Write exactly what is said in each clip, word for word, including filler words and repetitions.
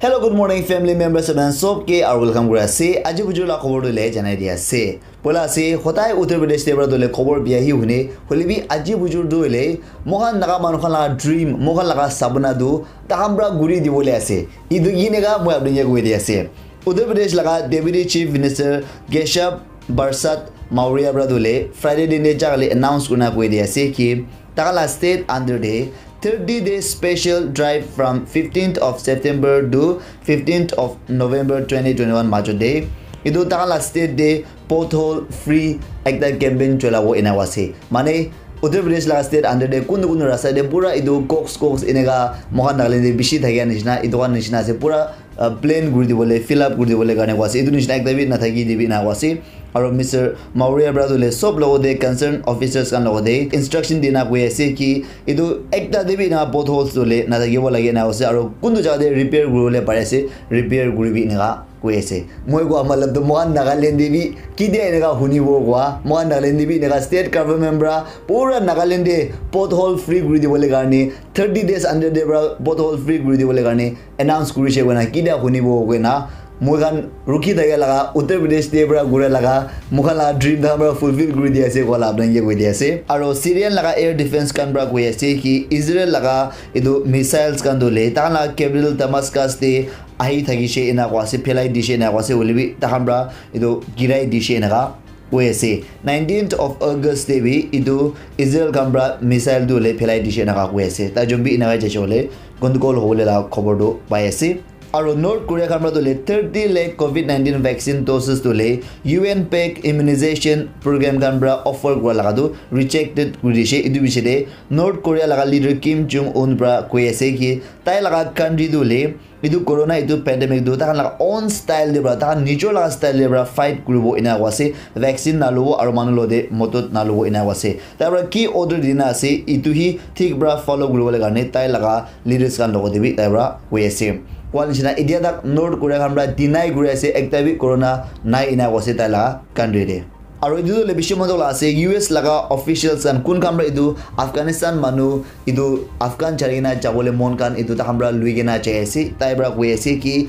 Hello, good morning, family members, and sob ke aru welcome kuri ase. Aji bujur la khobor tu le janai di ase. Poila ase, hotai Uttar Pradesh te para tu le khobor bia hi hune, hoile bi aji bujur tu le, mohan Naga manu khan la dream, mohan laga sapna tu, takhan para guri di bole ase. Idu yinega moi apni ke koi di ase. Uttar Pradesh laga Deputy Chief Minister Keshav Prasad Maurya para tu le, Friday din de jagale announce kurna koi di ase ki, takhan la state under de, thirty day special drive from fifteenth of September to fifteenth of November twenty twenty-one majot de. Idu takhan la state de pothole free ekta campaign cholabo ena ase. Mane Uttar Pradesh la state under de kundu kundu rasta de pura idu cox cox eneka mohan Nagaland de bishi thakia nishina, idu kan nishina ase pura uh, plain kuri dibole, fill up kuri dibole karne koa ase. Etu nishina ekta bi nathaki dibi ena koa ase. Aro Mister Maurya para tu le sob logote concern officers khan logote instruction dina koi ase ki etu ekta te bi ena potholes tu le nathakibo lage ena koa ase. Aro kuntu jaga te repair kuribole pare ase, repair kuribi eneka koi ase. Moi koa matlab tu mohan Nagaland te bi kidia eneka hunibo koa, mohan Nagaland te bi eneka state government para pura Nagaland te pothole free kuri dibole karne, thirty days under te para pothole free kuri dibole karne announce kurishe koina kitia hunibo koina moi khan rukhi thakia laga Uttar Pradesh te para gura laga moi khan laga dream khan para fulfill kuri di ase koa la apni ke koi di ase. Aro Syrian laga air defense khan para koi ase ki Israel laga etu missiles khan tu le takhan laga capital Damascus te ahi thakishe ena koa ase, phelai dishe ena koa ase, hoile bi takhan para etu girai dishe eneka koi ase. Nineteenth of August te bi etu Israel khan para missile tu le phelai dishe eneka koi ase. Tai jun bi eneka jaise hoile gandagol hobole la khobor tu pai ase. Aro North Korea khan para tu le thirty lakh covid nineteen vaccine doses tu le U N pack immunization program khan para offer kura laga tu rejected kuri dishe. Etu bishi de North Korea laga leader Kim Jong Un para koi ase ki tai laga country tu le etu corona etu pandemic tu takhan laga own style de para, takhan nijor laga style de para fight kuribo ena koa ase, vaccine nalobo aro manu logote modot nalobo ena koa ase. Tai para ki order dina ase, etu hi thik para follow kuribole karne tai laga leaders khan logote bi tai para koi ase. Koa nishina etia tak North Korea khan para deny kuri ase, ekta bi corona nai ena koa ase tai laga country de. Aro etu tu le bishi moto la ase, U S laga officials khan kun khan para etu Afghanistan manu etu Afghan chari kena jabole mon khan etu takhan para lui kena jai ase, tai para koi ase ki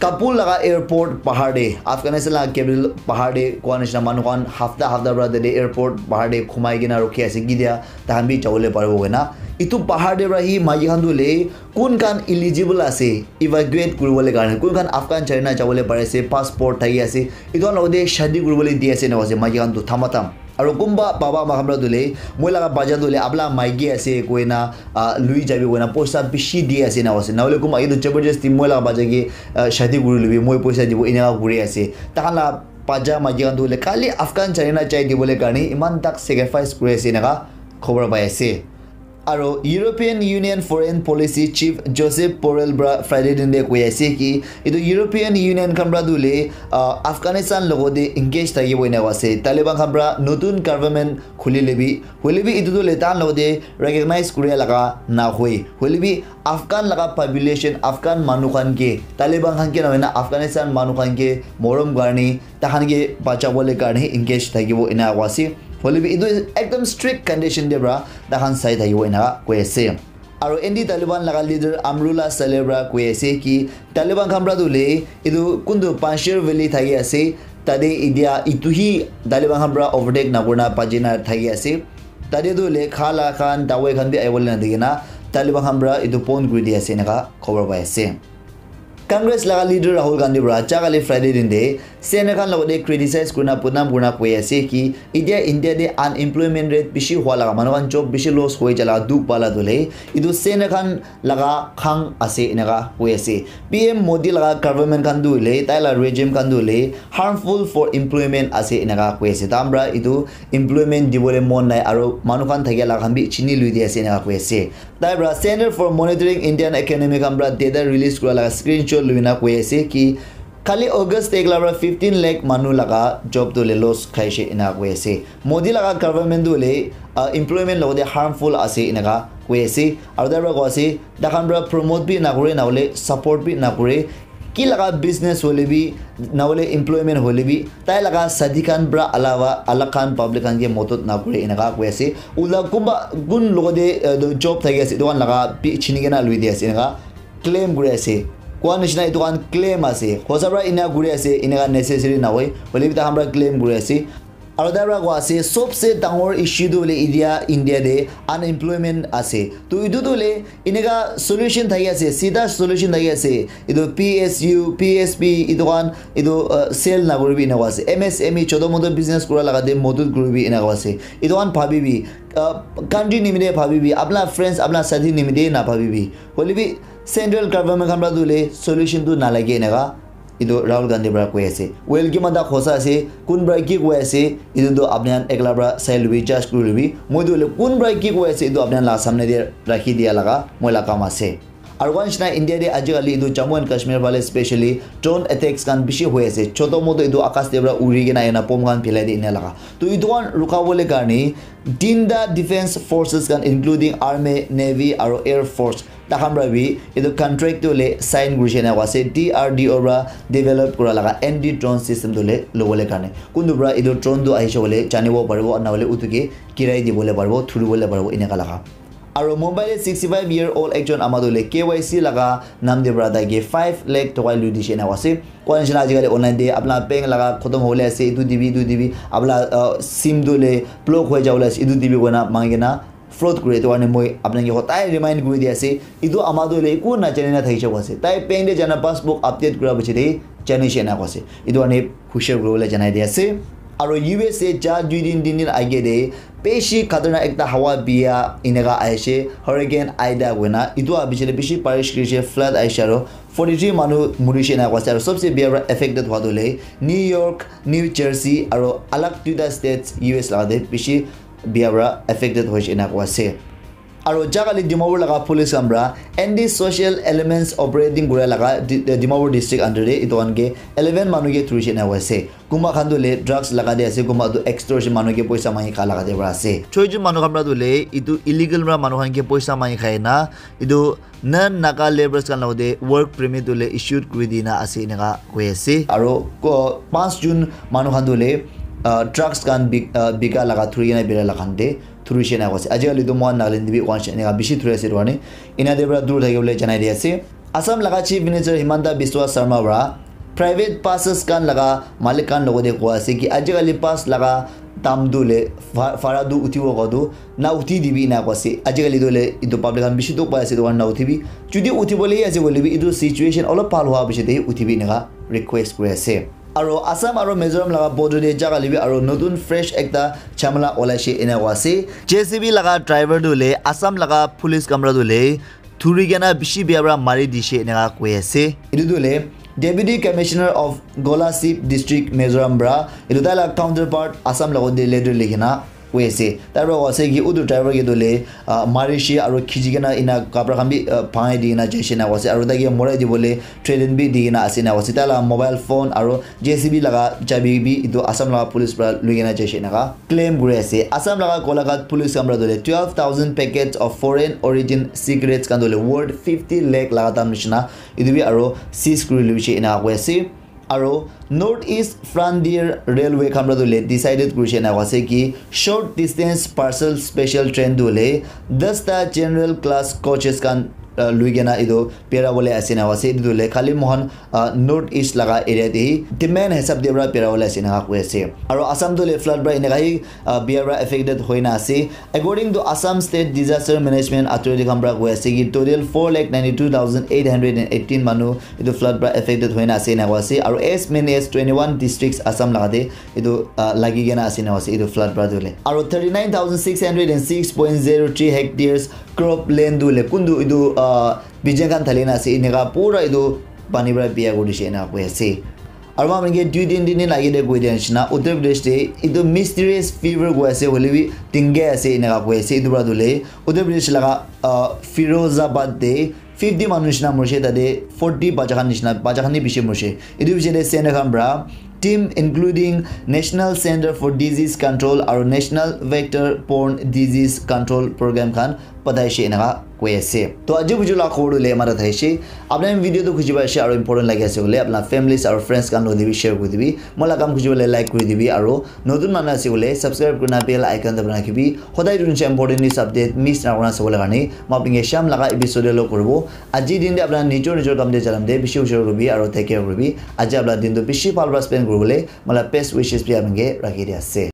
Kabul laga airport bahar de, Afghanistan laga capital bahar de koa nishina manu khan hafta hafta para tate airport bahar de khumai kena rukhi ase, kitia takhan bi jabole paribo koina. Etu bahar de para hi maiki khan tu le kun khan eligible ase evacuate kuribole karne, kun khan Afghan chari na jabole pari ase, passport thaki ase, etu khan logote shadi kuribole di ase ena koa ase, maiki khan tu thamatham. Aro kunba baba ama khan para tu le, moi laga bacha tu le, apna maiki ase koina, ah, lui jabi koina, poisa bishi di ase ena koa ase. Nahole kunba etu jabardasti moi laga bacha ke, ah, shadi kuri lobi, moi poisa dibo, eneka kuri ase. Takhan la bacha maiki khan tu le, khali Afghan chari na jai dibole karne, iman tak sacrifice kuri ase eneka khobor pai ase. Aro European Union Foreign Policy Chief Josep Borrell para Friday din de koi ase ki etu European Union khan para tu le, ah, Afghanistan logote engage thakibo ena koa ase. Taliban khan para notun government khuli le bi, hoile bi etu tu le takhan logote recognize kuria laga na hoi. Hoile bi Afghan laga population, Afghan manu khan ke, Taliban khan ke na hoina Afghanistan manu khan ke morom karne, takhan ke bachabole karne engage thakibo ena koa ase. Hoile bi etu ekdam strict condition de para takhan sai thakibo ena koi ase. Aro anti Taliban laga leader Amrullah Saleh para koi ase ki Taliban khan para tu le etu kuntu Panjshir Valley thaki ase, tate etia etu hi Taliban khan para overtake na kurina bachi na thaki ase. Tate tu le kha la khan, dawai khan bi ahibole na dikhi na Taliban khan para etu bon kuri di ase eneka khobor pai ase. Congress laga leader Rahul Gandhi para jagale Friday din de Senator khan logote criticize kurina, badnam kurina koi ase ki etia India te unemployment rate bishi hua laga, manu khan job bishi loss hoi jala dukh pala tu le etu Senator khan laga khang ase eneka koi ase. P M Modi laga government khan tu le, tai la regime khan tu le harmful for employment ase eneka koi ase. Takhan para etu employment dibole mon nai aro manu khan thakia laga khan bi chini lui di ase eneka koi ase. Tai para Center for Monitoring Indian Economy khan para data release kura laga screenshot lui na koi ase ki khali August te ekla para fifteen lakh manu laga job tu le loss khaishe ena koi ase. Modi laga government tu le, ah, employment logote harmful ase eneka koi ase. Aro tai para koi ase, takhan para promote bi nakure, nahole support bi nakure. Ki laga business hole bi, nahole employment hole bi, tai laga sati khan para alawa, alak khan public khan ke modot nakure eneka koi ase. Ula kunba kun logote, eh, job thaki ase, etu khan laga bi chini kena lui di ase eneka claim kuri ase. Koa nishina etu khan claim ase. Hosa pra ena kuri ase, eneka necessary nahoi. Hoile bi takhan pra claim kuri ase. Aro tai pra koa ase, sobse dangor issue tu hoile India, India de unemployment ase. To etu tu hoile eneka solution thaki ase, sida solution thaki ase. Etu P S U, P S P, etu khan, etu, uh, sale nakuribi eneka ase. M S M E, choto moto business kura laga de modut kuribi eneka ase. Etu khan bhabibi, uh, country nimite bhabibi, apna friends, apna sathi nimite na bhabibi. Hoile bi central government khan pra tu hoile solution tu nalage eneka. Etu Rahul Gandhi pra koi ase. Well, kiman ta khosa ase, kun pra ki koi ase, etu tu apni khan ekla pra sai lubi, judge kuri lubi. Moi tu hoile kun pra ki koi ase, etu apni khan la samne de rakhi dia laga moi la kam ase. Aru koa nishina India de ajikali etu Jammu and Kashmir phale specially drone attacks khan bishi hoi ase. Choto moto etu akas de pra uri kena ena bomb khan philai de ena laga. To etu khan rukabole karne tinta defense forces khan including army, navy aru air force takhan pra bi etu contract tu hoile sign kurishe ena koa ase, D R D O pra develop kura laga anti drone system tu hoile lobole karne. Kuntu pra etu drone tu ahishe koile janibo paribo, na hoile utu ke girai dibole paribo, thuribole paribo, eneka laga. Aru Mumbai te sixty five year old ekjon ama tu hoile K Y C laga nam te pra tai ke five lakh toka lui dishe ena koa ase. Koa nishina ajikali online te apna bank laga khotom hobole ase, etu dibi, etu dibi, apna, uh, sim tu hoile block hoi jabole ase, etu dibi koina mangi kena fraud kure. Etu karne moi apna ke hodai remind kuri di ase. Etu ama tu hoile eku najane na thaki jabo ase. Tai bank te jana passbook update kura piche te jani she ena koa ase. Etu karne hushar kuribole janai di ase. Aru U S A ja dui din, tin din age te bishi khatarnak ekta hawa bia eneka ahishe, Hurricane Ida koina. Etu aha piche te bishi barish kurishe, flood ahishe aru forty three manu murishe ena koa ase. Aru sobse bia pra affected hua tu hoile New York, New Jersey aru alag duita states U S laga te bishi bia pra affected hoishe ena koa ase. Aru jakali Dimapur laga police khan pra anti social elements operating kura laga Di-, Dimapur district under te etu khan ke eleven manu ke thurishe ena koa ase. Kunba khan tu hoile drugs laga te ase, kunba tu extortion manu ke poisa mangi kha laga te pra ase. Choi jon manu khan pra tu hoile etu illegal pra manu khan ke poisa mangi khai na etu non Naga labourers khan logot te work permit tu hoile issued kuri dina ase eneka koi ase. Aru ko-, panch jon manu khan tu hoile, ah, drugs khan bik-, ah, bika laga thuri kena bera laga khan te thurishe ena koa ase. Ajikali tu moikhan Nagaland te bi koa nishina eneka bishi thuri ase etu karne. Ena te pra dur thaki bole janai di ase. Assam laga Chief Minister Himanta Biswa Sarma pra private buses khan laga malik khan logot te koa ase ki ajikali bus laga dam tu hoile va-, vara tu uthibo koa tu na uthi dibi ena koa ase. Ajikali tu hoile etu public khan bishi dukh pai ase, etu karne na uthibi. Jodi uthibole ase koile bi etu situation olop bhal hua piche te uthibi eneka request kuri ase. Aru Assam aru Mizoram laga border te jakali bi aru notun fresh ekta jhamala olaishe ena koa ase. J C B laga driver tu hoile Assam laga police khan pra tu hoile thuri kena bishi bia pra mari dishe eneka koi ase. Etu tu hoile Deputy Commissioner of Kolasib District, Mizoram pra etu tai la counterpart Assam logot te letter likhi na koi ase. Tai pra koi ase ki utu driver ke tu hoile, ah, marishe aru khichi kena ena kapra khan bi, ah, bhangai di kena jaishe ena koi ase. Aru tai ke morai dibole threaten bi di kena ase ena koi ase. Tai la mobile phone aru J C B laga chabi bi etu Assam laga police pra lui kena jaishe eneka claim kuri ase. Assam laga Golaghat police khan pra tu hoile twelve thousand packets of foreign origin cigarettes khan tu hoile worth fifty lakh laga dam nishina etu bi aru seize kuri luishe eneka koi ase. Aru North East Frontier Railway khan pra tu hoile decided kurishe eneka ase ki short distance parcel special train tu hoile dasta general class coaches khan, ah, lui kena etu bera bole ase eneka ase. Etu tu hoile khali moikhan, ah, North East laga area te demand hisab te pra bera bole ase eneka koi ase. Aru Assam tu hoile flood pra eneka hi, ah, bia pra affected hoi na ase. According to Assam State Disaster Management Authority khan pra koi ase ki total four lakh ninety two thousand eight hundred and eighteen manu etu flood pra affected hoi na ase eneka koi ase. Aru as many as twenty one districts Assam laga te etu, ah, lagi kena ase eneka ase etu flood pra tu hoile. Aru thirty nine thousand six hundred and six point zero three hectares crop land tu hoile kuntu etu, ah, bijan khan thali na ase eneka pura etu pani pra bia kuri dishe eneka koi ase. Aru moikhan ke dui din, tin din age te koi dia nishina, Uttar Pradesh te etu mysterious fever koi ase, hoile bi dengue ase, eneka koi ase. Etu pra tu hoile Uttar Pradesh laga, ah, Firozabad te fifty manu nishina morishe, tate forty bacha khan nishina, bacha khan bi bishi morishe. Etu piche te center khan pra team including National Center for Disease Control aru National Vector Borne Disease Control Program khan pataishe, eneka Koi ase. To aji buju la khobor le mara thaishe. Apna video to khujiba ashe aro important lagi ase bole apna families aro friends kan lo dibi share kuri dibi. Mola kam khujiba le like kuri dibi aro notun manu ase bole subscribe kurna bell icon dabana rakhibi. Hodai dun important news update miss na kurna sabole karne. Mo apni ke sham laga episode lo koribo. Aji din de apna nijor nijor kam de jalam de bishi ushor koribi aro take care koribi. Aji apna din to bishi bhal pra spend kori bole mola best wishes bi apni ke rakhi di ase.